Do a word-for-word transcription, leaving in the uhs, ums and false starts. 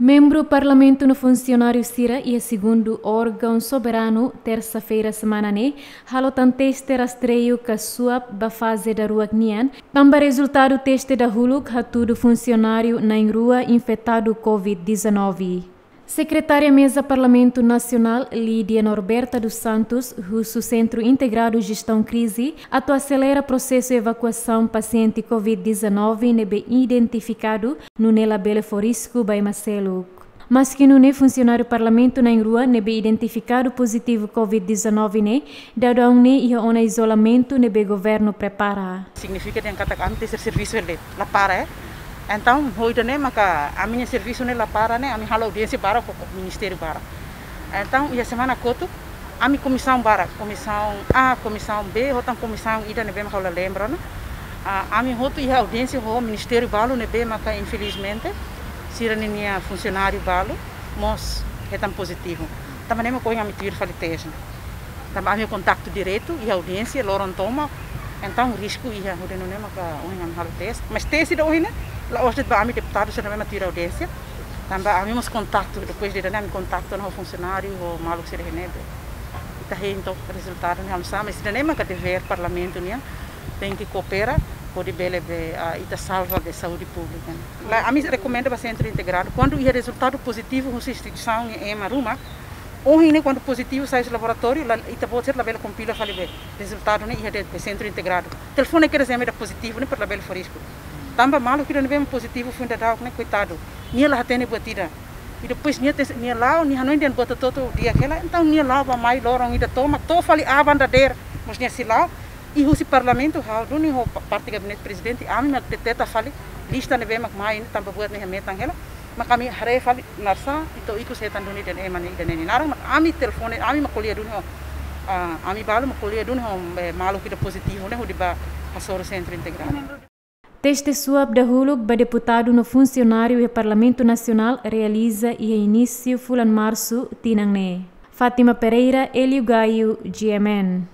Membru Parlamentu no funsionáriu sira iha segundu órgaun soberanu, tersa-feira semana ne'e, halo tan teste rastreiu ka swab ba faze daruak nian, tanba rezultadu teste dahuluk hatudu funsionáriu na'in-rua infetadu covid dezanove. Sekretária Meza Parlamentu Nasionál, Lídia Norberta dos Santos, husu Sentru Integradu Jestaun Krize atu aselera prosesu evakuasaun pasiente covid dezanove ne'ebé identifikadu, nune'e labele fó risku ba ema seluk. Maski nune'e, funsionáriu Parlamentu na'in-rua ne'ebé identifikadu pozitivu covid dezanove ne'e, daudaun ne'e iha ona izolamentu ne'ebé governu prepara. Signifika dehan katak ami-nia servisu ne'e la para, eh. Entaun, ho ida-ne'e maka ami-nia servisu ne'e la para ne'e, ami halo audiénsia barak ho, ho ministériu barak. Entaun, iha semana kotuk, ami komisaun barak, komisaun A, komisaun B, ho tan komisaun ida ne'ebé maka ha'u la lembra ona. Ah, ami hotu iha audiénsia ho ministériu balu ne'ebé maka infelizmente sira-ninia funsionáriu balu mós hetan pozitivu. Tanba ne'e mak ohin ami tuir fali teste. Tanba ami kontaktu diretu iha audiénsia loron tomak, entaun risku iha, hodi nune'e maka ohin ami halo teste. Mas teste ida ohin ne'e la'ós de'it ba ami deputadu sira ne'ebé mak tuir audiénsia. Tanba ami mós kontaktu, depois de ida-ne'e ami kontaktu ho funsionáriu, ho maluk sira iha ne'ebé. Ita hein to'o rezultadu ne'e oinsá, mas ida-ne'e maka devér Parlamentu nian, tenke koopera hodi bele be, ah, ita salva be saúde públika. Lae, ami rekomenda ba Sentru Integradu, kuandu iha rezultadu pozitivu husi instituisaun i ema ruma, ohin ne'e kuandu pozitivu sai husi laboratóriu, la, ita-boot sira labele kompila fali be rezultadu ne'e iha de'it be Sentru Integradu. Telefone kedas ema ida pozitivu ne'e para labele fó risku. Tanba maluk ida ne'ebé mak pozitivu foin daudauk ne'e, koitadu, nia la hatene buat ida. I depois nia tes-, nia la'o, nia hanoin dehan buat hotu-hotu di'ak hela, entaun nia la'o bá-mai loron ida tomak, to'o fali aban dadeer mós nia sei la'o. I husi Parlamentu, ha'u duni ho pa-, parte gabinete prezidente, ami mak deteta fali lista ne'ebé mak mai ne'e tanba buat ne'e hametan hela, mak ami haree fali naran sá, entaun ikus hetan duni dehan ema ne'e ida-ne'e nia naran, mak ami telefone, ami mak ko'alia duni ho, ah, ami balu mak ko'alia duni ho, eh, maluk ida pozitivu ne'e hodi bá hasoru Sentru Integradu. Teste swab dahuluk ba deputadu no funsionáriu iha Parlamentu Nasionál realiza iha inísiu fulan Marsu tinan ne'e. Fátima Pereira, Hélio Gaio, G M N.